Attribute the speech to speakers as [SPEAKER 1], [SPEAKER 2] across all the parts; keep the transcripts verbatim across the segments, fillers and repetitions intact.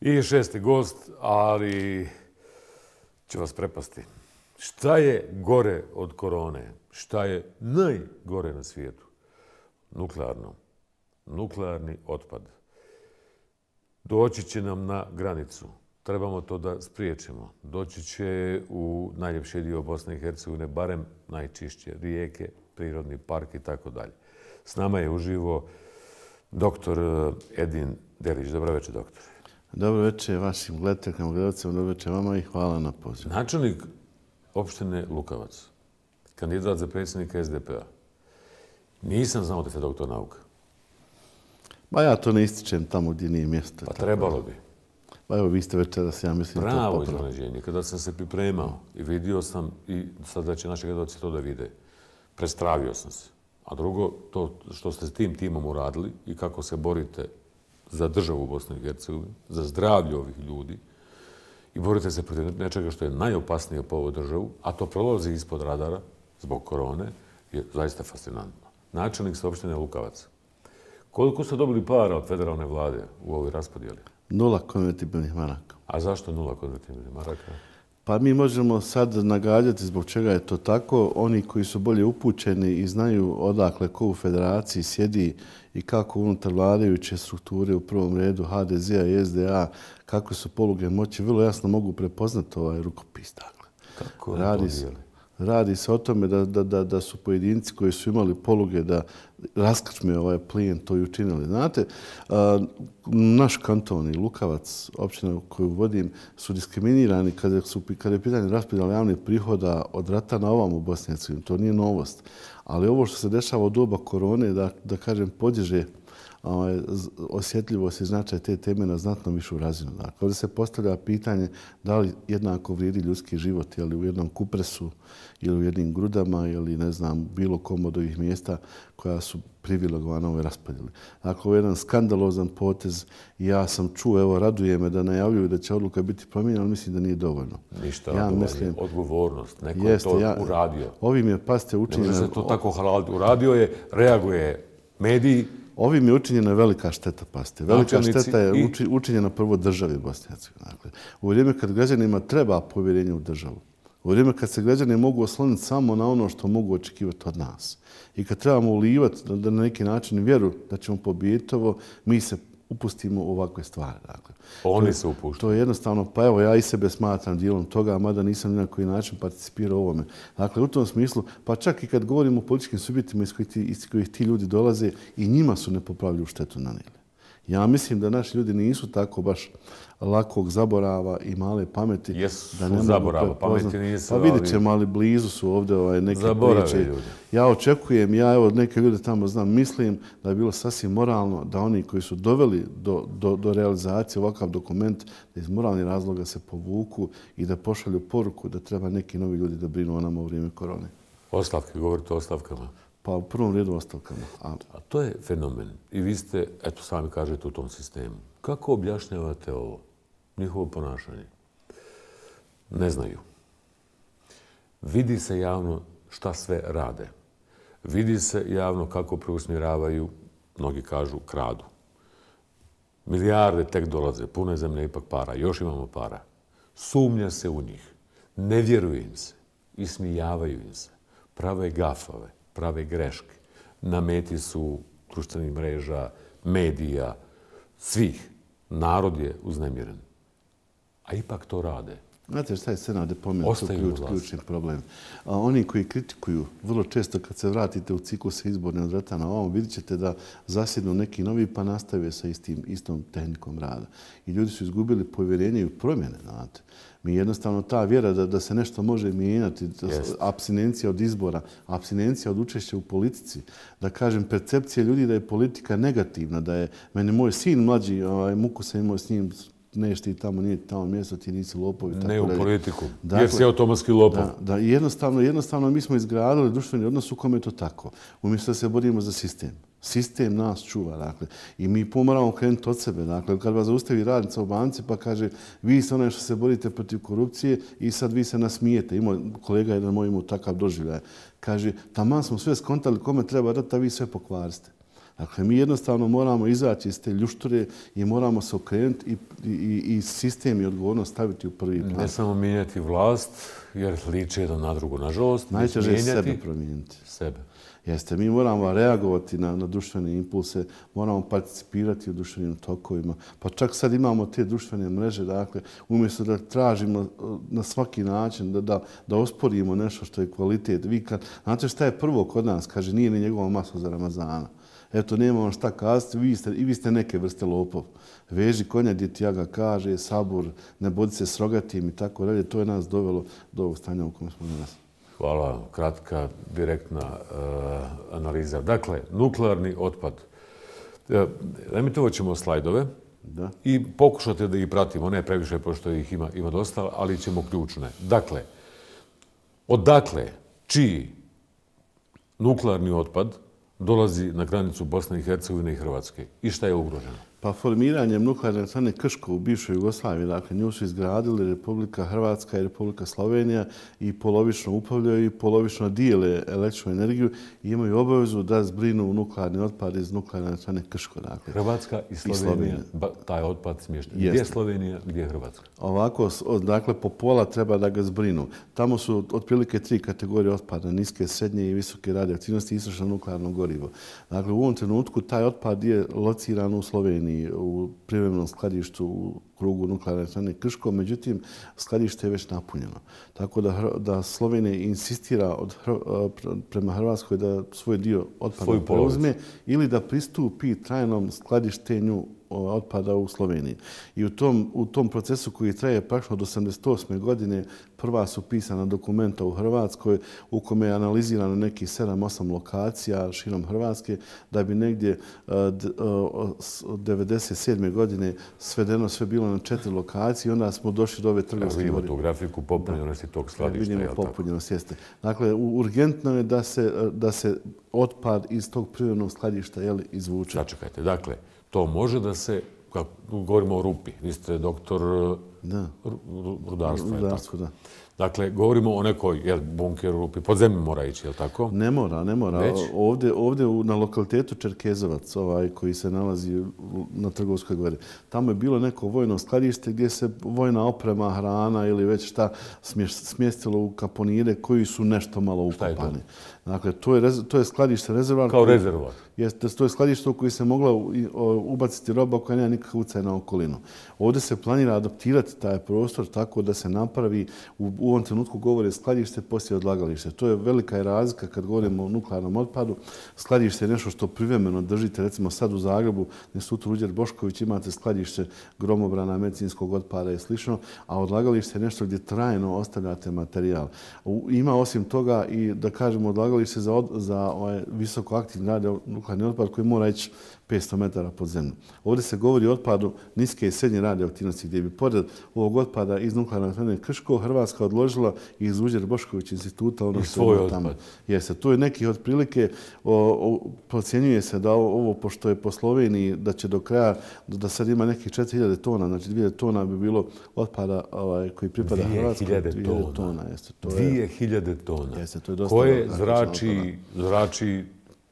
[SPEAKER 1] I šesti gost, ali će vas prepasti. Šta je gore od korone? Šta je najgore na svijetu? Nuklearno. Nuklearni otpad. Doći će nam na granicu. Trebamo to da spriječimo. Doći će u najljepši dio Bosne i Hercegovine, barem najčišće rijeke, prirodni park i tako dalje. S nama je uživo doktor Edin Delić. Dobro večer, doktor.
[SPEAKER 2] Dobro večer vašim gledateljima, gledalcima, dobro večer vama i hvala na pozivu.
[SPEAKER 1] Načelnik opštine Lukavac, kandidat za predsjednika es de pe a. Nisam znao da ste doktor nauka.
[SPEAKER 2] Ba ja to ne ističem tamo gdje nije mjesto.
[SPEAKER 1] Pa trebalo bi.
[SPEAKER 2] Pa evo, vi ste večeras, ja mislim...
[SPEAKER 1] Pravo iznenađenje. Kada sam se pripremao i vidio sam, i sad da će naši gledalci to da vide, prestravio sam se. A drugo, to što ste s tim timom uradili i kako se borite za državu u Bosni i Hercegovini, za zdravlje ovih ljudi i borite se protiv nečega što je najopasnije po ovoj državu, a to prolazi ispod radara zbog korone, je zaista fascinantno. Načelnik ste opštine Lukavac. Koliko ste dobili para od federalne vlade u ovoj raspodijeli?
[SPEAKER 2] Nula konvertibilnih maraka.
[SPEAKER 1] A zašto nula konvertibilnih maraka?
[SPEAKER 2] Pa mi možemo sad nagađati zbog čega je to tako. Oni koji su bolje upućeni i znaju odakle ko u federaciji sjedi i kako unutar vladajuće strukture u prvom redu ha de ze a i es de a, kakve su poluge moći, vrlo jasno mogu prepoznati ovaj rukopis. Dakle.
[SPEAKER 1] Kako
[SPEAKER 2] radi
[SPEAKER 1] to dijeli?
[SPEAKER 2] Radi se o tome da, da, da, da su pojedinci koji su imali poluge da raskrčme ovaj plijen to i učinili. Znate, naš kanton i Lukavac, općina koju vodim, su diskriminirani kada, su, kada je pitanje raspodjela javnih prihoda od rata na ovom u Bosni i Hercegovini. To nije novost. Ali ovo što se dešava u doba korone, da, da kažem, podiže ovaj, osjetljivost i značaj te teme na znatno višu razinu. Dakle, ovdje se postavlja pitanje da li jednako vrijedi ljudski život, je li u jednom Kupresu ili u jednim Grudama ili ne znam, bilo kom od ovih mjesta koja su privilegovana ove raspodjeli. Dakle, ovo je jedan skandalozan potez i ja sam čuo, evo, raduje me da najavljuju da će odluka biti promijenjena, ali mislim da nije dovoljno.
[SPEAKER 1] Ništa,
[SPEAKER 2] ja mislim,
[SPEAKER 1] odgovornost. Neko
[SPEAKER 2] jeste,
[SPEAKER 1] je to
[SPEAKER 2] ja,
[SPEAKER 1] uradio.
[SPEAKER 2] Ovim je, pasite, učinjeno...
[SPEAKER 1] Ne može se to tako halaliti. Uradio je, reaguje mediji.
[SPEAKER 2] Ovim je učinjena velika šteta, pasite. Velika šteta je učinjena prvo državi Bosne i Hercegovine. Dakle, u vrijeme kad građanima treba povjerenje u državu, u vrijeme kad se građani mogu osloniti samo na ono što mogu očekivati od nas i kad trebamo ulivati da na neki način vjeru da ćemo pobijediti ovo, mi se upustimo u ovakve stvari. Dakle,
[SPEAKER 1] Oni
[SPEAKER 2] to,
[SPEAKER 1] se upuštaju.
[SPEAKER 2] To je jednostavno, pa evo, ja i sebe smatram dijelom toga, mada nisam ni na koji način participirao u ovome. Dakle, u tom smislu, pa čak i kad govorimo o političkim subjektima iz kojih ti, iz kojih ti ljudi dolaze, i njima su nepopravljivu štetu nanijeli. Ja mislim da naši ljudi nisu tako baš lakog zaborava i male pameti.
[SPEAKER 1] Jesu
[SPEAKER 2] da ne
[SPEAKER 1] zaborava, pameti nisu.
[SPEAKER 2] Pa vidjet ćemo, ali blizu su ovdje ovaj, neke
[SPEAKER 1] Zaborave
[SPEAKER 2] priče.
[SPEAKER 1] Ljudi.
[SPEAKER 2] Ja očekujem, ja evo neke ljude tamo znam, mislim da je bilo sasvim moralno da oni koji su doveli do, do, do realizacije ovakav dokument, da iz moralnih razloga se povuku i da pošalju poruku da treba neki novi ljudi da brinu o nama u vrijeme korone.
[SPEAKER 1] Ostavke, govorite o ostavkama.
[SPEAKER 2] Pa u prvom redu ostavkama. A,
[SPEAKER 1] A to je fenomen. I vi ste, eto sami kažete, u tom sistemu. Kako objašnjavate ovo? Njihovo ponašanje? Ne znaju. Vidi se javno šta sve rade. Vidi se javno kako preusmjeravaju, mnogi kažu, kradu. Milijarde tek dolaze, puno je zemlje ipak para, još imamo para. Sumnja se u njih. Ne vjeruje im se. Ismijavaju im se. Prave gafave. Prave greške. Na meti su društvenih mreža, medija, svih. Narod je uznemiren. A ipak to rade.
[SPEAKER 2] Znate šta je scena gdje pomenuti ključ, ključni problem? A oni koji kritikuju, vrlo često kad se vratite u ciklus izborne od rata na ovom, vidjet ćete da zasjednu neki novi pa nastave sa istim, istom tehnikom rada. I ljudi su izgubili povjerenje u promjene. Znate. Mi jednostavno ta vjera da, da se nešto može mijenjati, yes. Apstinencija od izbora, apstinencija od učešća u politici, da kažem percepcija ljudi da je politika negativna, da je meni moj sin mlađi, ovaj, muku sam imao s njim, neš ti tamo, nije tamo mjesto, ti nisi lopovi.
[SPEAKER 1] Ne u
[SPEAKER 2] dalje.
[SPEAKER 1] Politiku,
[SPEAKER 2] dakle,
[SPEAKER 1] jer si automatski lopov.
[SPEAKER 2] Da, da, jednostavno, jednostavno mi smo izgradili društveni odnos u kome je to tako. Umjesto da se borimo za sistem. Sistem nas čuva, dakle. I mi pomoramo krenuti od sebe. Dakle, kad vas zaustavi radnica u banci pa kaže vi ste onaj što se borite protiv korupcije i sad vi se nasmijete. Imao kolega jedan moj imao takav doživljaj. Kaže, taman smo sve skontali kome treba dati, a vi sve pokvariste. Dakle, mi jednostavno moramo izaći iz te ljušture i moramo se okrenuti i, i, i sistem i odgovornost staviti u prvi plan.
[SPEAKER 1] Ne samo mijenjati vlast, jer liče jedan na drugu, nažalost.
[SPEAKER 2] Najteže je sebe promijeniti.
[SPEAKER 1] Sebe.
[SPEAKER 2] Jeste, mi moramo reagovati na, na društvene impulse, moramo participirati u društvenim tokovima. Pa čak sad imamo te društvene mreže, dakle, umjesto da tražimo na svaki način, da, da, da osporimo nešto što je kvalitet. Vi kad, znate šta je prvo kod nas? Kaže, nije ni njegova masla za Ramazana. Eto, nema vam šta kazati, vi ste, i vi ste neke vrste lopov. Veži konja gdje ti jaga kaže, sabur, ne bodi se s rogatim i tako dalje. To je nas dovelo do ovog stanja u kojem smo danas.
[SPEAKER 1] Hvala. Kratka, direktna uh, analiza. Dakle, nuklearni otpad. Uh, Emitovati ćemo slajdove
[SPEAKER 2] da.
[SPEAKER 1] I pokušate da ih pratimo. Ne previše, pošto ih ima, ima dosta, ali ćemo ključne. Dakle, odakle, čiji nuklearni otpad dolazi na granicu Bosne i Hercegovine i Hrvatske? I šta je ugroženo?
[SPEAKER 2] Pa formiranjem nuklearne elektrane Krško u bivšoj Jugoslaviji, dakle, nju su izgradili Republika Hrvatska i Republika Slovenija i polovično upravljaju i polovično dijele električnu energiju i imaju obavezu da zbrinu nuklearni otpad iz nuklearne elektrane Krško. Dakle.
[SPEAKER 1] Hrvatska i Slovenija, i Slovenija. Taj otpad smješten. Gdje je Slovenija, gdje je Hrvatska?
[SPEAKER 2] Ovako, dakle, po pola treba da ga zbrinu. Tamo su otprilike tri kategorije otpada, niske, srednje i visoke radioaktivnosti i istrošeno nuklearno gorivo. Dakle, u ovom trenutku taj otpad je lociran u Sloveniji, u privremenom skladištu u krugu nuklearne elektrane Krško, međutim, skladište je već napunjeno. Tako da, da Slovenija insistira od, prema Hrvatskoj da svoj dio otpada preuzme ili da pristupi trajnom skladištenju otpada u Sloveniji. I u tom, u tom procesu koji traje praktično od osamdeset osme godine prva su pisana dokumenta u Hrvatskoj u kome je analizirano nekih sedam osam lokacija širom Hrvatske da bi negdje od devedeset sedme godine svedeno sve bilo na četiri lokacije i onda smo došli do ove trgovske.
[SPEAKER 1] Vidimo tu grafiku popunjenosti tog skladišta.
[SPEAKER 2] Vidimo popunjenost, jeste. Dakle, urgentno je da se, da se otpad iz tog privrednog skladišta jeli, izvuče.
[SPEAKER 1] Sačekajte, dakle, to može da se, kako govorimo o rupi, vi ste doktor
[SPEAKER 2] da.
[SPEAKER 1] rudarstva.
[SPEAKER 2] Rudarstvo, da.
[SPEAKER 1] Dakle, govorimo o nekoj jer bunker u rupi, pod zemlju mora ići, je li tako?
[SPEAKER 2] Ne mora, ne mora. Već? Ovdje, ovdje na lokalitetu Čerkezovac, ovaj, koji se nalazi na Trgovskoj gori, tamo je bilo neko vojno skladište gdje se vojna oprema, hrana ili već šta smjestilo u kaponire koji su nešto malo ukopani. Dakle, to je, to je skladište rezervoar.
[SPEAKER 1] Kao rezervoar.
[SPEAKER 2] Jeste, to je skladište u koji se mogla ubaciti roba koja nema nikakav utjecaj na okolinu. Ovdje se planira adaptirati taj prostor tako da se napravi, u, u ovom trenutku govore skladište poslije odlagalište. To je velika razlika kad govorimo o nuklearnom otpadu. Skladište je nešto što privremeno držite, recimo sad u Zagrebu, Institut Ruđer Bošković, imate skladište gromobrana, medicinskog otpada i slično, a odlagalište je nešto gdje trajno ostavljate materijal. Ima osim toga i, da kažemo, odlagalište za, od, za ovaj visokoaktivni radionuklearni otpad koji mora ići petsto metara pod zemlju. Ovdje se govori o otpadu niske i srednje radioaktivnosti gdje bi pored ovog otpada iz nuklearne elektrane Krško Hrvatska odložila iz Ruđer Bošković instituta ono što je tamo. Jeste, to je neki otprilike, o, o, procjenjuje se da ovo, ovo, pošto je po Sloveniji, da će do kraja, da sad ima nekih četiri hiljade tona, znači dvije hiljade tona bi bilo otpada ovaj, koji pripada Hrvatskoj.
[SPEAKER 1] dvije hiljade tona.
[SPEAKER 2] Jeste, to
[SPEAKER 1] dvije hiljade tona.
[SPEAKER 2] Jeste, to je dosta.
[SPEAKER 1] Koje zrači, zrači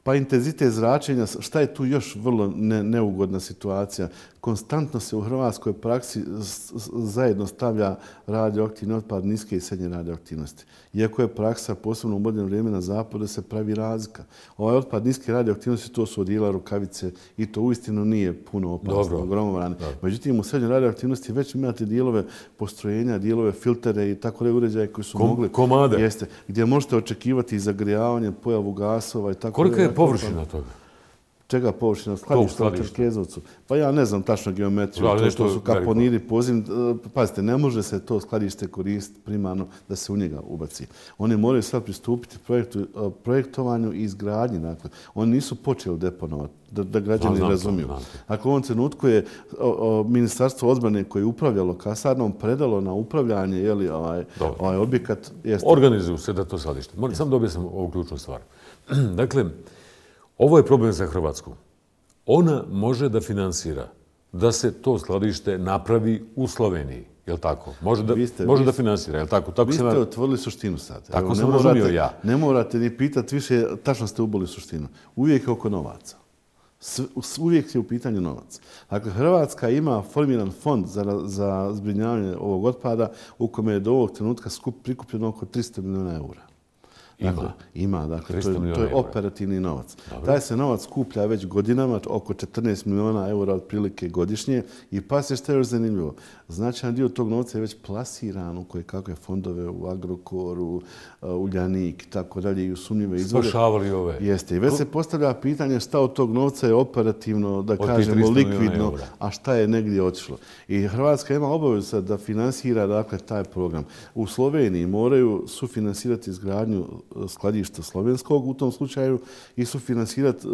[SPEAKER 2] Pa intenzitet zračenja, šta je tu još vrlo ne, neugodna situacija? Konstantno se u hrvatskoj praksi zajedno stavlja radioaktivni otpad niske i srednje radioaktivnosti. Iako je praksa, posebno u moderno vrijeme na zapadu, se pravi razlika. Ovaj otpad niske radioaktivnosti, to su odijela, rukavice i to uistinu nije puno opasno, gromobrane. Međutim, u srednjoj radioaktivnosti već imate dijelove postrojenja, dijelove filtere i tako da uređaje koji su
[SPEAKER 1] Kom,
[SPEAKER 2] mogli...
[SPEAKER 1] Komade.
[SPEAKER 2] Jeste, gdje možete očekivati zagrijavanje, pojavu gasova i tako.
[SPEAKER 1] Kolika je površina toga?
[SPEAKER 2] Čega površina? Skladišta u Čerkezovcu. Pa ja ne znam tačno geometriju, da, to što su kaponiri, pozim. Pazite, ne može se to skladište koristiti primarno da se u njega ubaci. Oni moraju sad pristupiti projektu, projektovanju i izgradnji. Dakle, oni nisu počeli deponovati, da, da građani znam, razumiju. Znam, znam. Dakle, u ovom trenutku je o, o, Ministarstvo odbrane koje je upravljalo kasarnom predalo na upravljanje jeli, ovaj, ovaj objekat. Jeste...
[SPEAKER 1] Organizuju se da to skladište. Moram sam da objasnim ovu ključnu stvar. Dakle, ovo je problem za Hrvatsku. Ona može da finansira da se to skladište napravi u Sloveniji. Je li tako? Može da,
[SPEAKER 2] ste,
[SPEAKER 1] može da finansira. Je li tako? Tako
[SPEAKER 2] vi ste
[SPEAKER 1] na...
[SPEAKER 2] otvorili suštinu sad.
[SPEAKER 1] Tako Evo, sam razumio ja.
[SPEAKER 2] Ne morate ni pitati više, tačno ste uboli suštinu. Uvijek je oko novaca. Uvijek je u pitanju novac. Dakle, Hrvatska ima formiran fond za, za zbrinjavanje ovog otpada u kome je do ovog trenutka skup, prikupljeno oko tristo milijuna eura. Dakle, ima. Ima, dakle, to je, to je operativni novac. Dobre. Taj se novac skuplja već godinama, oko četrnaest milijuna eura otprilike godišnje i pa se što je još zanimljivo. Značajan dio tog novca je već plasiran u koje kakve fondove, u Agrokoru, Uljanik i tako dalje i u sumnjive izvore.
[SPEAKER 1] Spašavali ove.
[SPEAKER 2] Jeste. I već se postavlja pitanje šta od tog novca je operativno, da kažemo, likvidno, a šta je negdje otišlo. I Hrvatska ima obavezu da finansira, dakle, taj program. U Sloveniji moraju sufinansirati izgradnju skladišta slovenskog u tom slučaju i sufinansirati,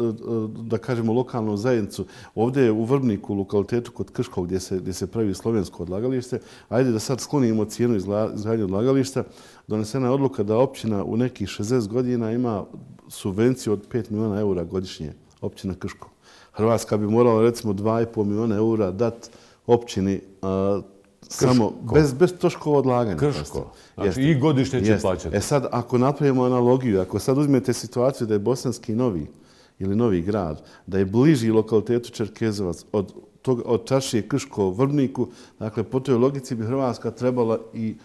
[SPEAKER 2] da kažemo, lokalnu zajednicu. Ovdje je u Vrbniku, u lokalitetu kod Krškog, gdje se, gdje se pravi slovensko odlagalište. Ajde da sad sklonimo cijenu izgradnje odlagališta. Donesena je odluka da općina u nekih šezdeset godina ima subvenciju od pet milijuna eura godišnje, općina Krško. Hrvatska bi morala, recimo, dva i pol milijuna eura dati općini a, samo bez, bez troškova odlaganja.
[SPEAKER 1] Krško. Znači jeste. I godišnje će jeste. Plaćati.
[SPEAKER 2] E sad, ako napravimo analogiju, ako sad uzmete situaciju da je Bosanski Novi ili Novi Grad, da je bliži lokalitetu Čerkezovac od, tog, od Čaršije Krško Vrbniku, dakle, po toj logici bi Hrvatska trebala i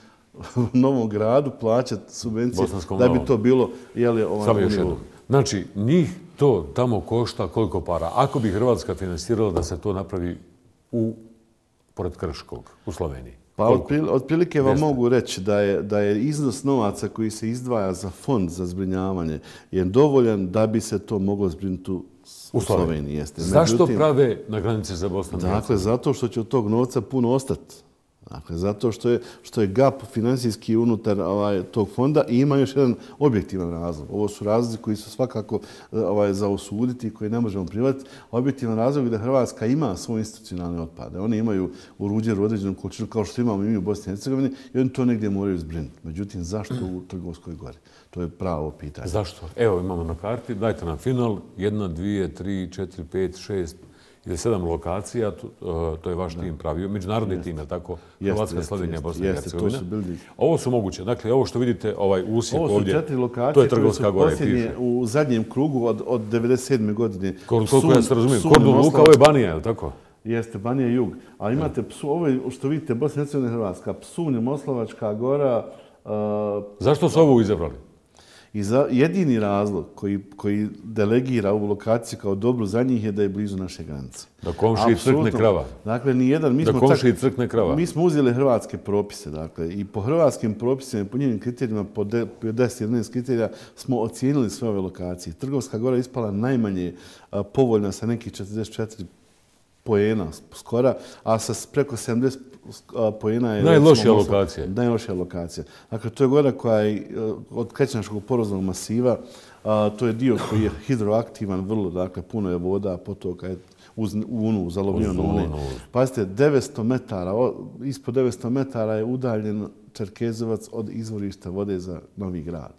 [SPEAKER 2] Novom Gradu plaćati subvencije da bi to bilo... Jeli, ovaj,
[SPEAKER 1] Samo još jedno. Znači, njih to tamo košta koliko para? Ako bi Hrvatska finansirala da se to napravi u pored Krškog, u Sloveniji?
[SPEAKER 2] Pa otprilike vam mogu reći da je, da je iznos novaca koji se izdvaja za fond za zbrinjavanje je dovoljan da bi se to moglo zbrinuti u U Sloveniji. Jeste.
[SPEAKER 1] Zašto Međutim, prave na granici za Bosnu i Hercegovinu?
[SPEAKER 2] Dakle, zato što će od tog novca puno ostati. Dakle, zato što je, što je gap financijski unutar ovaj, tog fonda i ima još jedan objektivan razlog. Ovo su razlozi koji su svakako ovaj, za osuditi i koji ne možemo prihvatiti. Objektivan razlog je da Hrvatska ima svoje institucionalne otpade. Oni imaju u Ruđeru određenu količinu kao što imamo i mi u Bosni i Hercegovini i oni to negdje moraju zbrinuti. Međutim, zašto u Trgovskoj gori? To je pravo pitanje.
[SPEAKER 1] Zašto? Evo imamo na karti, dajte nam final, jedna, dvije, tri, četiri, pet, šest ili sedam lokacija, to, to je vaš tim pravio, međunarodni jest. Tim, je tako? Hrvatska, Slovenija, Bosna i Hercegovina. Ovo su moguće. Dakle, ovo što vidite, ovaj usjek ovdje,
[SPEAKER 2] ovo su četiri lokacije
[SPEAKER 1] to je Trgovska gora.
[SPEAKER 2] Posljednje u zadnjem krugu od, od devedeset sedme godine.
[SPEAKER 1] Koliko Sun, ja se razumijem, Kordun Luka, ovo je Banija, je li tako?
[SPEAKER 2] Jeste, Banija Jug. A imate, psu, ovo je, što vidite, Bosna i Hercegovina, Hrvatska, Psunj, Moslovačka gora. Uh,
[SPEAKER 1] Zašto su ovo izabrali?
[SPEAKER 2] I za, jedini razlog koji, koji delegira ovu lokaciju kao dobru za njih je da je blizu naše granice.
[SPEAKER 1] Da komšiji crkne krava.
[SPEAKER 2] Dakle, ni jedan, mi
[SPEAKER 1] da
[SPEAKER 2] smo
[SPEAKER 1] komšiji crkne krava.
[SPEAKER 2] Mi smo uzeli hrvatske propise, dakle, i po hrvatskim propisima, po njenim kriterijima, po deset jedanaest kriterija, smo ocijenili sve ove lokacije. Trgovska gora je ispala najmanje a, povoljna sa nekih četrdeset četiri poena skora, a sa preko sedamdeset poena je...
[SPEAKER 1] Najlošija lokacija.
[SPEAKER 2] Najlošija lokacija. Dakle, to je gora koja je od Krećnaškog poroznog masiva, a, to je dio koji je hidroaktivan, vrlo, dakle, puno je voda, potoka je uz Unu, uz aluminijom Une. Pazite, devetsto metara, ispod devetsto metara je udaljen Čerkezovac od izvorišta vode za Novi Grad.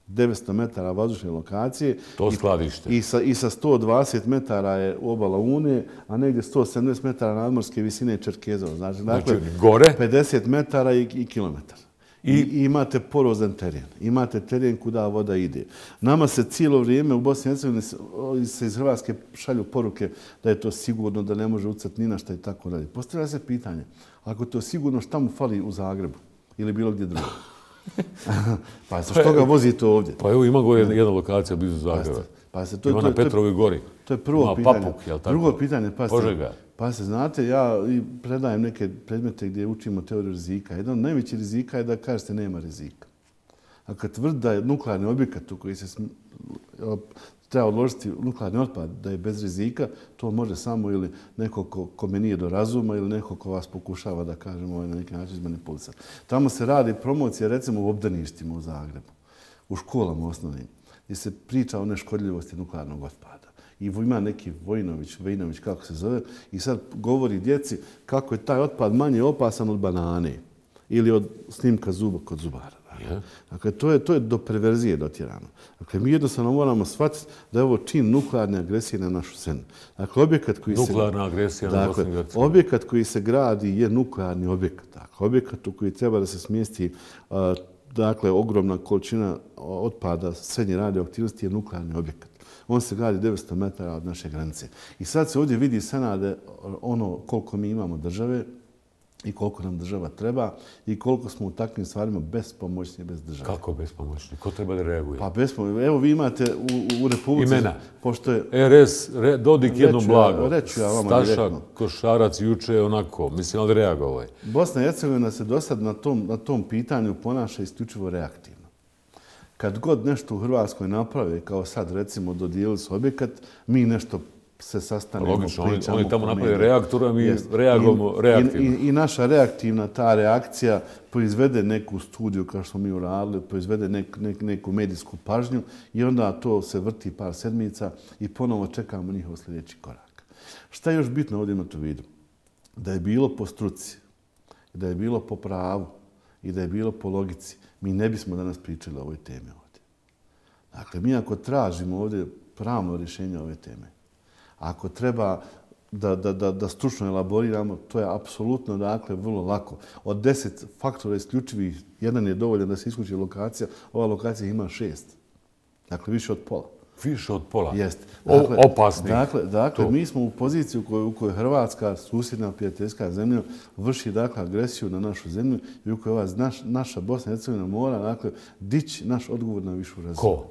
[SPEAKER 2] devetsto metara vazdušne lokacije.
[SPEAKER 1] To skladište.
[SPEAKER 2] I sa, i sa sto dvadeset metara je obala Une, a negdje sto sedamdeset metara nadmorske visine Čerkezova. Znači,
[SPEAKER 1] znači
[SPEAKER 2] dakle,
[SPEAKER 1] gore?
[SPEAKER 2] pedeset metara i, i kilometar. I, I imate porozan teren. Imate teren kuda voda ide. Nama se cijelo vrijeme u Bosni i Hercegovini se iz Hrvatske šalju poruke da je to sigurno, da ne može ucati ni na šta i tako dalje. Postavlja se pitanje, ako to sigurno, šta mu fali u Zagrebu ili bilo gdje drugo? Pa što ga vozite ovdje?
[SPEAKER 1] Pa evo ima gore jedna lokacija blizu Zagreba.
[SPEAKER 2] Pa se, to,
[SPEAKER 1] ima
[SPEAKER 2] to,
[SPEAKER 1] na Petrovoj gori.
[SPEAKER 2] To je prvo
[SPEAKER 1] ima
[SPEAKER 2] pitanje.
[SPEAKER 1] Papuk, jel tako?
[SPEAKER 2] Drugo pitanje, pa se,
[SPEAKER 1] Požega.
[SPEAKER 2] Pa se, znate, ja predajem neke predmete gdje učimo teoriju rizika. Jedan od najvećih rizika je da kažete nema rizika. A kad tvrdi da je nuklearni objekat u koji se sm... treba odložiti nuklearni otpad, da je bez rizika, to može samo ili neko ko, ko me nije do razuma ili neko ko vas pokušava da kažemo ovaj, na neki način izmanipulisati. Tamo se radi promocija recimo u obdaništima u Zagrebu, u školama osnovnim, gdje se priča o neškodljivosti nuklearnog otpada. I ima neki Vojinović, Vejnović, kako se zove, i sad govori djeci kako je taj otpad manje opasan od banane ili od snimka zuba kod zubara.
[SPEAKER 1] Yeah.
[SPEAKER 2] Dakle, to je, to je do perverzije dotjerano. Dakle, mi jednostavno moramo shvatiti da je ovo čin nuklearne agresije na našu zemlju. Dakle, objekat koji
[SPEAKER 1] Nuklearna
[SPEAKER 2] se,
[SPEAKER 1] agresija na
[SPEAKER 2] dakle,
[SPEAKER 1] Bosnu i Hercegovinu.
[SPEAKER 2] Objekat koji se gradi je nuklearni objekat. Dakle, objekat u koji treba da se smjesti uh, dakle, ogromna količina otpada srednje radioaktivnosti je nuklearni objekat. On se gradi devetsto metara od naše granice. I sad se ovdje vidi Senade ono koliko mi imamo države i koliko nam država treba i koliko smo u takvim stvarima bespomoćni bez države.
[SPEAKER 1] Kako bespomoćni? Ko treba da reaguje?
[SPEAKER 2] Pa bespomoćni. Evo vi imate u, u Republici...
[SPEAKER 1] Imena.
[SPEAKER 2] Pošto je...
[SPEAKER 1] R S, re, Dodik jedno blago.
[SPEAKER 2] Reću ja vama
[SPEAKER 1] Staša,
[SPEAKER 2] direktno.
[SPEAKER 1] Košarac, juče onako. Mislim, ali reagovao je.
[SPEAKER 2] Bosna i Hercegovina se do sad na tom, na tom pitanju ponaša isključivo reaktivno. Kad god nešto u Hrvatskoj naprave, kao sad recimo dodijelili su objekat, mi nešto se sastanemo,
[SPEAKER 1] logično,
[SPEAKER 2] pričamo.
[SPEAKER 1] Oni tamo napravi reaktor, a mi yes. reagujemo
[SPEAKER 2] I,
[SPEAKER 1] reaktivno.
[SPEAKER 2] I, I naša reaktivna ta reakcija proizvede neku studiju, kao što smo mi uradili, proizvede nek, nek, neku medijsku pažnju i onda to se vrti par sedmica i ponovo čekamo njihov sljedeći korak. Šta je još bitno ovdje imati u vidu? Da je bilo po struci, da je bilo po pravu i da je bilo po logici, mi ne bismo danas pričali o ovoj temi ovdje. Dakle, mi ako tražimo ovdje pravno rješenje ove teme, ako treba da, da, da, da stručno elaboriramo, to je apsolutno dakle, vrlo lako. Od deset faktora isključivih, jedan je dovoljan da se isključi lokacija, ova lokacija ima šest. Dakle, više od pola.
[SPEAKER 1] Više od pola?
[SPEAKER 2] Jeste.
[SPEAKER 1] Dakle, opasni.
[SPEAKER 2] Dakle, dakle mi smo u poziciji u kojoj, u kojoj Hrvatska, susjedna prijateljska zemlja, vrši dakle, agresiju na našu zemlju i u kojoj ova naš, naša Bosna i Hercegovina mora dakle, dići naš odgovor na višu razinu.
[SPEAKER 1] Ko?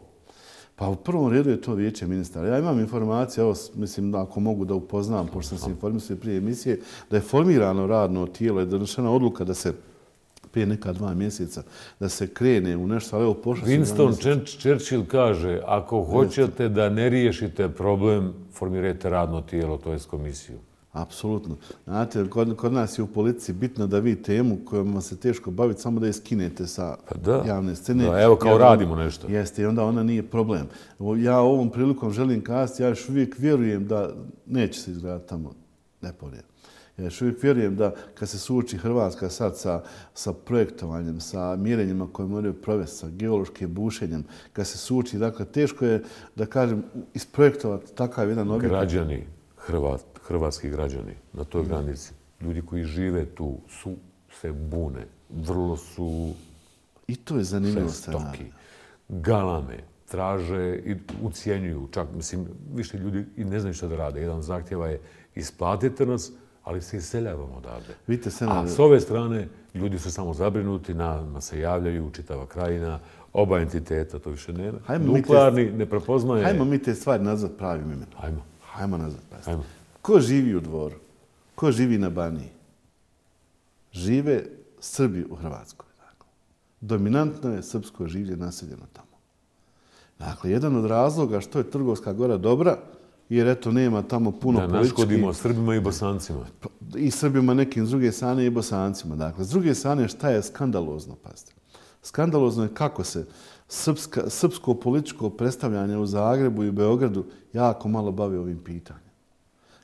[SPEAKER 2] Pa u prvom redu je to vijeće ministara. Ja imam informacije, evo, mislim da ako mogu da upoznam, pošto sam se informisao prije emisije, da je formirano radno tijelo, je donošena odluka da se prije neka dva mjeseca, da se krene u nešto, ali evo pošlo se...
[SPEAKER 1] Winston Churchill kaže, ako hoćete da ne riješite problem, formirajte radno tijelo, to je komisiju.
[SPEAKER 2] Apsolutno. Znate, kod, kod nas je u politici bitno da vi temu kojom se teško baviti, samo da je skinete sa
[SPEAKER 1] pa da,
[SPEAKER 2] javne scene.
[SPEAKER 1] Da, evo kao
[SPEAKER 2] jer,
[SPEAKER 1] radimo nešto.
[SPEAKER 2] Jeste, i onda ona nije problem. Ja ovom prilikom želim kazati, ja još uvijek vjerujem da neće se izgledati tamo Nepolje. Ja još uvijek vjerujem da kad se suoči Hrvatska sad sa, sa projektovanjem, sa mjerenjima koje moraju provesti, sa geološkim bušenjem, kad se suoči, dakle, teško je, da kažem, isprojektovati takav jedan objekat.
[SPEAKER 1] Građani, Hrvat, hrvatski građani na toj granici, ljudi koji žive tu, su se bune, vrlo su
[SPEAKER 2] i to je zanimljivo
[SPEAKER 1] žestoki, galame, traže i ucijenjuju. Čak, mislim, više ljudi i ne znaju što da rade. Jedan zahtjeva je isplatite nas, ali se iseljavamo odavde.
[SPEAKER 2] Vidite,
[SPEAKER 1] A s ove strane ljudi su samo zabrinuti, nama se javljaju, čitava krajina, oba entiteta, to više nema. Nuklearni ne prepoznaje...
[SPEAKER 2] Hajmo mi te stvari nazvat pravim imenom.
[SPEAKER 1] Hajmo.
[SPEAKER 2] Hajmo nazvat pravim.
[SPEAKER 1] Hajmo.
[SPEAKER 2] Ko živi u Dvoru? Ko živi na Baniji? Žive Srbi u Hrvatskoj. Dakle. Dominantno je srpsko življe naseljeno tamo. Dakle, jedan od razloga što je Trgovska Gora dobra, jer eto nema tamo puno
[SPEAKER 1] da,
[SPEAKER 2] politički... Da
[SPEAKER 1] naškodimo Srbima i Bosancima.
[SPEAKER 2] I Srbima nekim s druge strane i Bosancima. Dakle, s druge strane šta je skandalozno, pazite. Skandalozno je kako se srpska, srpsko političko predstavljanje u Zagrebu i Beogradu jako malo bavi ovim pitanjem.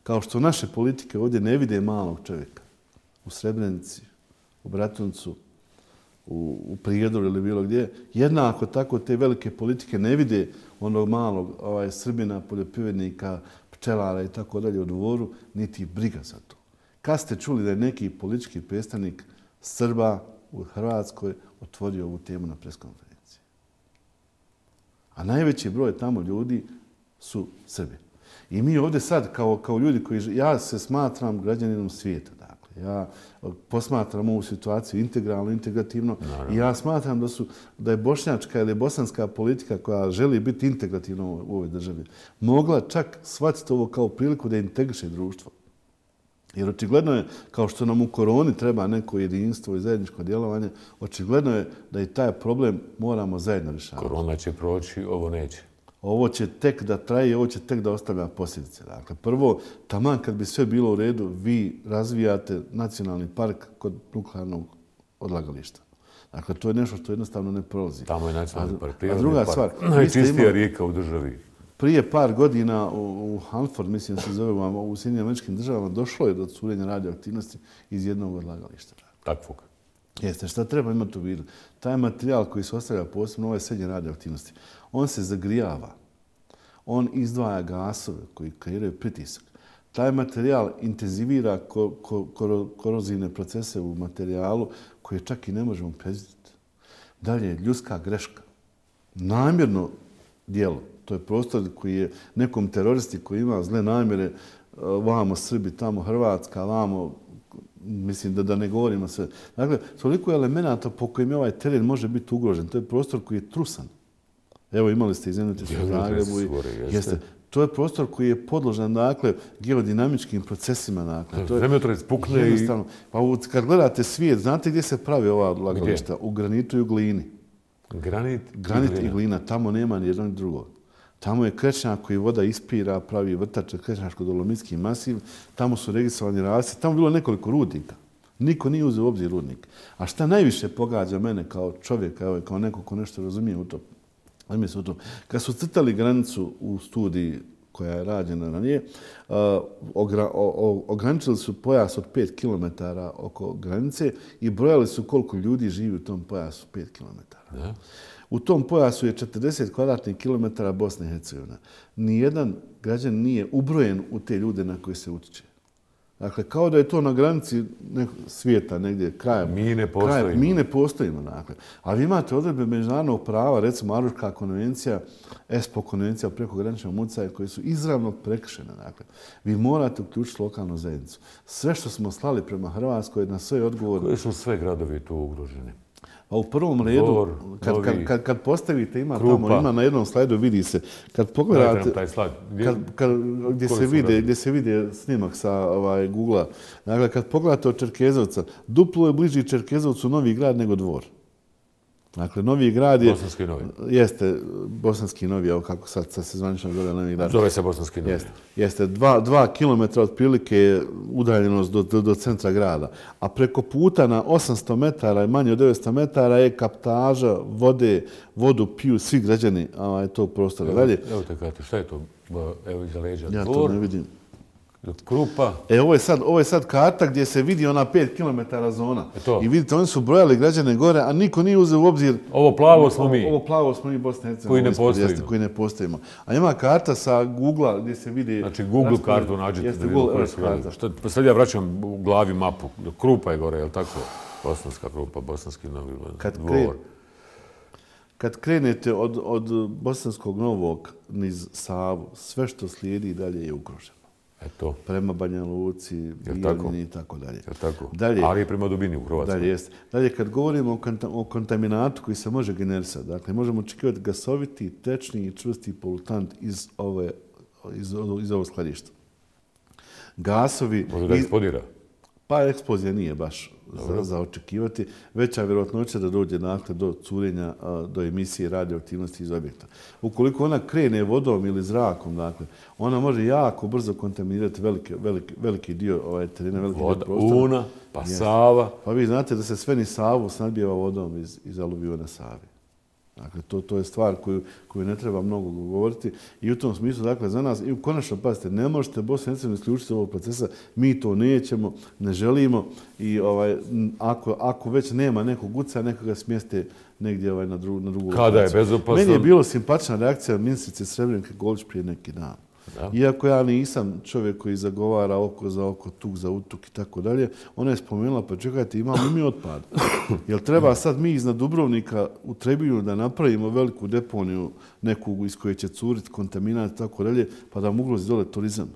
[SPEAKER 2] Kao što naše politike ovdje ne vide malog čovjeka u Srebrenici, u Bratuncu, u, u Prijedoru ili bilo gdje, jednako tako te velike politike ne vide onog malog ovaj, Srbina, poljoprivrednika, pčelara i tako dalje u Dvoru, niti briga za to. Kad ste čuli da je neki politički predstavnik Srba u Hrvatskoj otvorio ovu temu na preskonferenciji? A najveći broj tamo ljudi su Srbi. I mi ovdje sad, kao, kao ljudi koji... Ja se smatram građaninom svijeta. Dakle. Ja posmatram ovu situaciju integralno, integrativno. Naravno. I ja smatram da, su, da je bošnjačka ili bosanska politika koja želi biti integrativna u ovoj državi mogla čak shvatiti ovo kao priliku da integriše društvo. Jer očigledno je, kao što nam u koroni treba neko jedinstvo i zajedničko djelovanje, očigledno je da i taj problem moramo zajedno rješavati.
[SPEAKER 1] Korona će proći, ovo neće.
[SPEAKER 2] Ovo će tek da traje, ovo će tek da ostavlja posljedice. Dakle, prvo, taman kad bi sve bilo u redu, vi razvijate nacionalni park kod nuklearnog odlagališta. Dakle, to je nešto što jednostavno ne prolazi.
[SPEAKER 1] Tamo je nacionalni park,
[SPEAKER 2] a druga
[SPEAKER 1] park.
[SPEAKER 2] Stvar,
[SPEAKER 1] najčistija rijeka u državi.
[SPEAKER 2] Prije par godina u, u Hanford, mislim se zove, u Sjedinjenim Američkim Državama, došlo je do curenja radioaktivnosti iz jednog odlagališta.
[SPEAKER 1] Takvog.
[SPEAKER 2] Jeste, šta treba imati u vidu? Taj materijal koji se ostavlja posebno ove srednje radioaktivnosti, on se zagrijava, on izdvaja gasove koji kreiraju pritisak. Taj materijal intenzivira ko, ko, ko, korozivne procese u materijalu koje čak i ne možemo predvidjeti. Dalje, ljudska greška. Namjerno djelo. To je prostor koji je nekom teroristi koji ima zle namjere, vamo Srbi, tamo Hrvatska, vamo, mislim da, da ne govorimo sve. Dakle, toliko je elemenata po kojim ovaj teren može biti ugrožen. To je prostor koji je trusan. Evo, imali ste izjednuti se u Zagrebu. I, jeste. To je prostor koji je podložan, dakle, geodinamičkim procesima. Dakle. To je,
[SPEAKER 1] zemljotres pukne i...
[SPEAKER 2] Pa kad gledate svijet, znate gdje se pravi ova odlagališta? U granitu i u glini.
[SPEAKER 1] Granit,
[SPEAKER 2] Granit
[SPEAKER 1] i, glina.
[SPEAKER 2] i glina. Tamo nema ni jednog ni drugog. Tamo je krečnjak koji voda ispira, pravi vrtač, krečnjačko-dolomitski masiv. Tamo su registrovani rasti. Tamo je bilo nekoliko rudnika. Niko nije uzeo u obzir rudnik. A šta najviše pogađa mene kao čovjeka, evo, kao neko ko nešto razumije u to, u to. Kad su crtali granicu u studiji koja je rađena ranije, uh, ogra, o, ograničili su pojas od pet kilometara oko granice i brojali su koliko ljudi živi u tom pojasu pet kilometara.
[SPEAKER 1] Da.
[SPEAKER 2] U tom pojasu je četrdeset kvadratnih kilometara Bosne i Hercegovine. Nijedan građan nije ubrojen u te ljude na koje se utiče. Dakle, kao da je to na granici svijeta, negdje, kraja.
[SPEAKER 1] Mi ne postojimo.
[SPEAKER 2] Kraja, mi ne postojimo, dakle. A vi imate odredbe međunarodnog prava, recimo Aruška konvencija, ESPO konvencija o prekograničnom utjecaju, koje su izravno prekršene. Dakle, vi morate uključiti lokalnu zajednicu. Sve što smo slali prema Hrvatskoj na sve odgovor...
[SPEAKER 1] Koji su sve gradovi tu ugroženi?
[SPEAKER 2] A u prvom redu,
[SPEAKER 1] Dvor,
[SPEAKER 2] kad,
[SPEAKER 1] Novi,
[SPEAKER 2] kad, kad, kad postavite, ima
[SPEAKER 1] Krupa.
[SPEAKER 2] tamo, ima na jednom slajdu, vidi se, kad pogledate,
[SPEAKER 1] taj slajd. Gdje,
[SPEAKER 2] kad, kad, gdje, se vide, gdje se vide snimak sa ovaj, Google-a, dakle, kad pogledate od Čerkezovca, duplo je bliži Čerkezovcu Novi Grad nego Dvor. Dakle, Novi Grad je...
[SPEAKER 1] Bosanski Novi.
[SPEAKER 2] Jeste, Bosanski Novi, evo kako sad, sad se zvanično zove Novi Grad.
[SPEAKER 1] Zove se Bosanski Novi.
[SPEAKER 2] Jeste, jeste dva, dva kilometra otprilike je udaljenost do, do, do centra grada. A preko puta na osamsto metara i manje od devetsto metara je kaptaža vode, vodu piju svi građani ovaj, tog prostora.
[SPEAKER 1] Evo,
[SPEAKER 2] Dalje,
[SPEAKER 1] evo te kate, šta je to? Evo iza leđa.
[SPEAKER 2] ja
[SPEAKER 1] Dvor,
[SPEAKER 2] to ne vidim.
[SPEAKER 1] Krupa.
[SPEAKER 2] E, ovo je, sad, ovo je sad karta gdje se vidi ona pet kilometara zona.
[SPEAKER 1] Eto.
[SPEAKER 2] I vidite, oni su brojali građane gore, a niko nije uzeo u obzir...
[SPEAKER 1] Ovo plavo smo mi.
[SPEAKER 2] Ovo, ovo plavo smo mi Bosne i Hercegovine.
[SPEAKER 1] Koji ne postojimo.
[SPEAKER 2] Jeste, koji ne postojimo. A ima karta sa Google-a gdje se vidi...
[SPEAKER 1] Znači, Google kartu nađete.
[SPEAKER 2] Jeste,
[SPEAKER 1] da
[SPEAKER 2] Google
[SPEAKER 1] koje
[SPEAKER 2] Earth
[SPEAKER 1] su
[SPEAKER 2] karta.
[SPEAKER 1] Što, sad ja vraćam u glavi mapu. Krupa je gore, je li tako? Bosanska Krupa, Bosanski Novi
[SPEAKER 2] Kad
[SPEAKER 1] Dvor.
[SPEAKER 2] kre... Kad krenete od, od Bosanskog Novog niz Savu, sve što slijedi dalje je ugroženo.
[SPEAKER 1] Eto.
[SPEAKER 2] Prema Banja Luci, Bijeljini i tako dalje.
[SPEAKER 1] Je tako?
[SPEAKER 2] Dalje,
[SPEAKER 1] ali je prema dubini u Hrvatskoj.
[SPEAKER 2] Dalje, jeste. Dalje, kad govorimo o, konta, o kontaminatu koji se može generisati, dakle, možemo očekivati gasoviti, tečni i čvrsti polutant iz, ove, iz, iz ovog skladišta. Gasovi...
[SPEAKER 1] Može da eksplodira?
[SPEAKER 2] Pa eksplozija nije baš za, za očekivati. Veća vjerojatnoća da dođe dakle, do curenja, do emisije radioaktivnosti iz objekta. Ukoliko ona krene vodom ili zrakom, dakle, ona može jako brzo kontaminirati veliki, veliki, veliki dio ovaj, terena, veliki
[SPEAKER 1] Voda,
[SPEAKER 2] dio prostora.
[SPEAKER 1] Una, pa yes. Sava.
[SPEAKER 2] Pa vi znate da se sve ni Savu snadbijeva vodom iz, iz aluviona Savi. Dakle, to, to je stvar koju, koju ne treba mnogo govoriti i u tom smislu, dakle, za nas, i konačno, pazite, ne možete Bosnu i Hercegovinu isključiti ovog procesa, mi to nećemo, ne želimo i ovaj, ako, ako već nema nekog uca, nekoga smjeste negdje ovaj, na, drugu, na drugu
[SPEAKER 1] Kada
[SPEAKER 2] lokaciju.
[SPEAKER 1] je bezopasno?
[SPEAKER 2] Meni je bilo simpatična reakcija ministrice Srebrenike Golić prije neki dan. Da. Iako ja nisam čovjek koji zagovara oko za oko, tuk za utuk i tako dalje, ona je spomenula, pa čekajte, imamo i mi otpad. Jel treba sad mi iznad Dubrovnika u Trebinju da napravimo veliku deponiju neku iz koje će curiti kontaminat i tako dalje, pa da mogu dole turizam?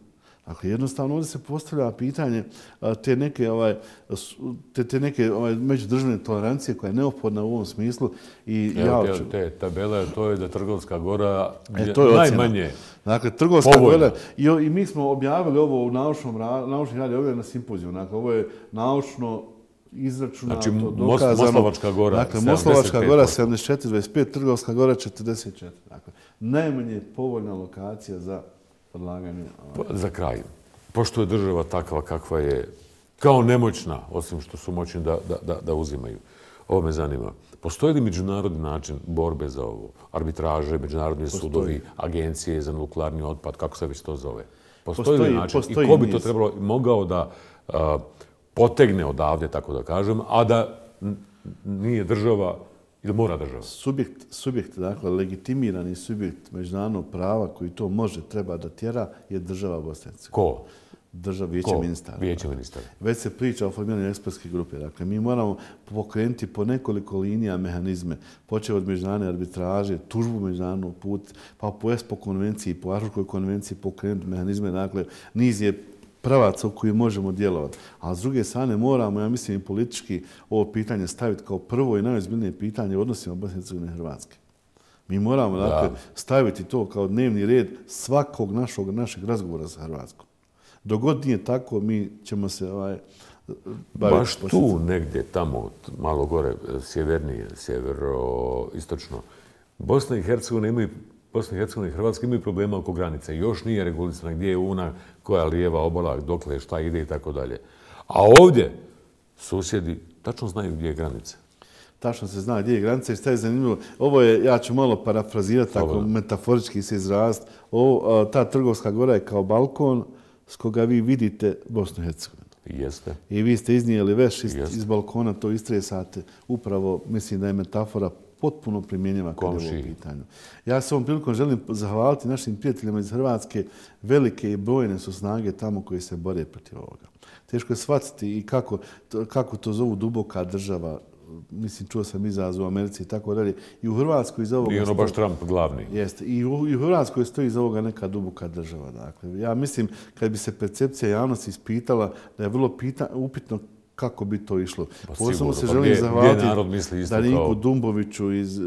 [SPEAKER 2] Dakle, jednostavno ovdje se postavlja pitanje te neke, ovaj, te, te neke ovaj, međudržavne tolerancije koja je neophodna u ovom smislu. I
[SPEAKER 1] Evo,
[SPEAKER 2] ja
[SPEAKER 1] te, te tabele, to je da Trgovska Gora je,
[SPEAKER 2] e, to je
[SPEAKER 1] najmanje
[SPEAKER 2] Dakle, Trgovska
[SPEAKER 1] povoljna.
[SPEAKER 2] Gora. I, I mi smo objavili ovo u naučnom, naučni radi, ovo je na simpoziju. Dakle, ovo je naučno izračunato,
[SPEAKER 1] znači,
[SPEAKER 2] dokazano.
[SPEAKER 1] Moslavačka Gora,
[SPEAKER 2] dakle, Moslavačka Gora sedamdeset četiri dvadeset pet, Trgovska Gora četrdeset četiri. Dakle, najmanje povoljna lokacija za odlaganje.
[SPEAKER 1] Pa, za kraj, pošto je država takva kakva je, kao nemoćna, osim što su moćni da, da, da, da uzimaju, ovo me zanima. Postoji li međunarodni način borbe za ovo? Arbitraže, međunarodni postoji. Sudovi, agencije za nuklearni otpad, kako se već to zove? Postoji, postoji li način? Postoji I ko bi to trebalo, mogao da a, potegne odavde, tako da kažem, a da nije država ili mora država?
[SPEAKER 2] Subjekt, subjekt, dakle, legitimirani subjekt međunarodnog prava koji to može, treba da tjera, je država Bosne i Hercegovine.
[SPEAKER 1] Ko?
[SPEAKER 2] država, vijeće ministara.
[SPEAKER 1] Vijeće ministara.
[SPEAKER 2] Već se priča o formiranju ekspertske grupe. Dakle, mi moramo pokrenuti po nekoliko linija mehanizme, počeo od međunarodne arbitraže, tužbu međunarodnog put, pa po ESPO konvenciji, po Aarhuškoj konvenciji pokrenuti mehanizme. Dakle, niz je pravaca u koji možemo djelovati. A s druge strane moramo, ja mislim, i politički ovo pitanje staviti kao prvo i najozbiljnije pitanje u odnosima Bosne i Hercegovine i Hrvatske. Mi moramo dakle, staviti to kao dnevni red svakog našog, našeg razgovora sa Hrvatskom. Dok god nije tako, mi ćemo se ovaj, baviti.
[SPEAKER 1] Baš tu negdje, tamo, malo gore, sjevernije, sjevero-istočno, Bosna i Hercegovina imaju Bosna i Hercegovina i Hrvatska imaju problema oko granice. Još nije regulisana gdje je una, koja lijeva obala, dokle, šta ide i tako dalje. A ovdje susjedi tačno znaju gdje je granica.
[SPEAKER 2] Tačno se zna gdje je granica i šta je zanimljivo. Ovo je, ja ću malo parafrazirati, tako metaforički se izrast. Ovo, ta Trgovska gora je kao balkon s koga vi vidite Bosnu i Hercegovinu.
[SPEAKER 1] Jeste.
[SPEAKER 2] I vi ste iznijeli veš iz, iz balkona, to istresate. Upravo, mislim da je metafora potpuno primjenjiva kada je ovo pitanju. Ja se ovom prilikom želim zahvaliti našim prijateljima iz Hrvatske. Velike i brojne su snage tamo koji se bore protiv ovoga. Teško je shvatiti i kako, kako to zovu duboka država. Mislim, čuo sam izraz u Americi i tako dalje. I u Hrvatskoj iz ovoga...
[SPEAKER 1] I ono baš Trump glavni.
[SPEAKER 2] Jeste. I u, i u Hrvatskoj stoji iz ovoga neka duboka država. Dakle, ja mislim, kad bi se percepcija javnosti ispitala, da je vrlo pita, upitno kako bi to išlo.
[SPEAKER 1] Pa
[SPEAKER 2] posebno se
[SPEAKER 1] pa
[SPEAKER 2] želim
[SPEAKER 1] gdje,
[SPEAKER 2] zahvaliti
[SPEAKER 1] Darinku
[SPEAKER 2] kao... Dumboviću, iz,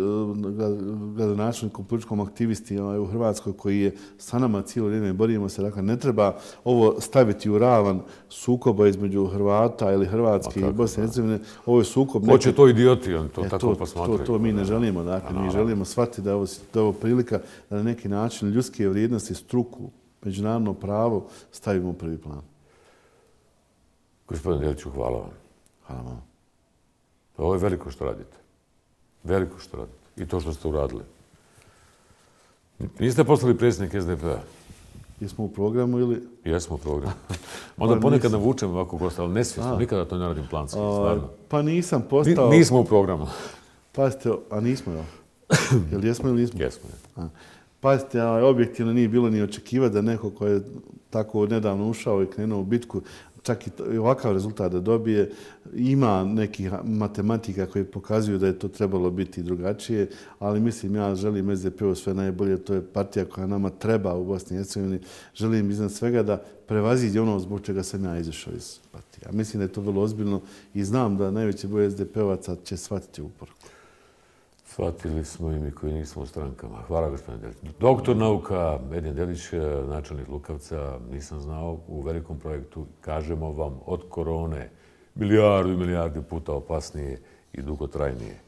[SPEAKER 2] gradonačelnikom, političkom aktivisti ovaj, u Hrvatskoj, koji je sa nama cijelo vrijeme, borimo se. Dakle, ne treba ovo staviti u ravan sukoba između Hrvata ili Hrvatske i Bosne i Hercegovine. Ovo je sukob...
[SPEAKER 1] Neke... Hoće to idioti, on to
[SPEAKER 2] e,
[SPEAKER 1] tako
[SPEAKER 2] to,
[SPEAKER 1] posmatraju.
[SPEAKER 2] To, to mi ne želimo. Dakle, mi želimo shvatiti da je ovo, da je ovo prilika da na neki način ljudske vrijednosti, struku, međunarodno pravo stavimo u prvi plan.
[SPEAKER 1] Gospodin Deliću, hvala vam.
[SPEAKER 2] Hvala vam.
[SPEAKER 1] Ovo je veliko što radite. Veliko što radite. I to što ste uradili. Niste poslali predsjednik S D P-a?
[SPEAKER 2] Jesmo u programu ili...
[SPEAKER 1] Jesmo u programu. Onda ponekad navučem ovako gosta, ali nesvjesno. Nikada to ne radim planski, stvarno.
[SPEAKER 2] Pa nisam postao...
[SPEAKER 1] Nismo u programu.
[SPEAKER 2] Pazite, a nismo, jel? Jel jesmo ili nismo?
[SPEAKER 1] Jesmo.
[SPEAKER 2] Pazite, objektivno nije bilo ni očekivati da neko ko je tako nedavno ušao i krenuo u bitku, čak i ovakav rezultat da dobije, ima nekih matematika koji pokazuju da je to trebalo biti drugačije, ali mislim, ja želim S D P-u sve najbolje, to je partija koja nama treba u Bosni i Hercegovini. Želim iznad svega da prevaziđe ono zbog čega sam ja izašao iz partije. Mislim da je to vrlo ozbiljno i znam da najveći broj S D P-ovaca će shvatiti uporuku.
[SPEAKER 1] Shvatili smo i mi koji nismo u strankama. Hvala, gospodine Delić. Doktor nauka, Edin Delić, načelnik Lukavca, nisam znao, u velikom projektu, kažemo vam, od korone, milijardu i milijardu puta opasnije i dugotrajnije.